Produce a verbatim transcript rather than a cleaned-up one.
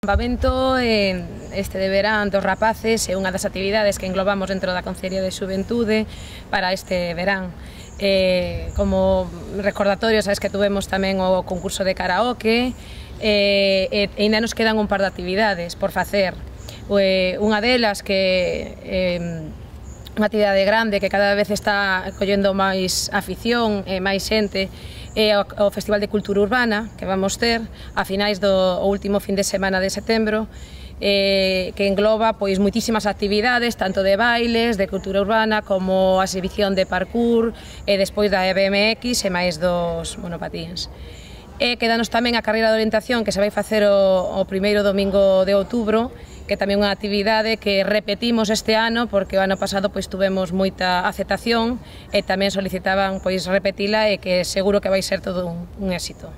O campamento este de verán dos rapaces é unha das actividades que englobamos dentro da Consellería de Xuventude para este verán. Eh, como recordatorio, sabes que tuvemos tamén o concurso de karaoke eh, e ainda nos quedan un par de actividades por facer. Eh, unha delas que eh, unha actividade grande que cada vez está collendo máis afición e máis xente é o Festival de Cultura Urbana que vamos ter a finais do último fin de semana de setembro, eh, que engloba pois moitísimas actividades, tanto de bailes, de cultura urbana, como a exhibición de parkour e despois da B M X e máis dos monopatíns. E quedanos tamén a carreira de orientación que se vai facer o, o primeiro domingo de outubro, que tamén é unha actividade que repetimos este ano porque o ano pasado pois tuvemos moita aceptación e tamén solicitaban pois repetila e que seguro que vai ser todo un, un éxito.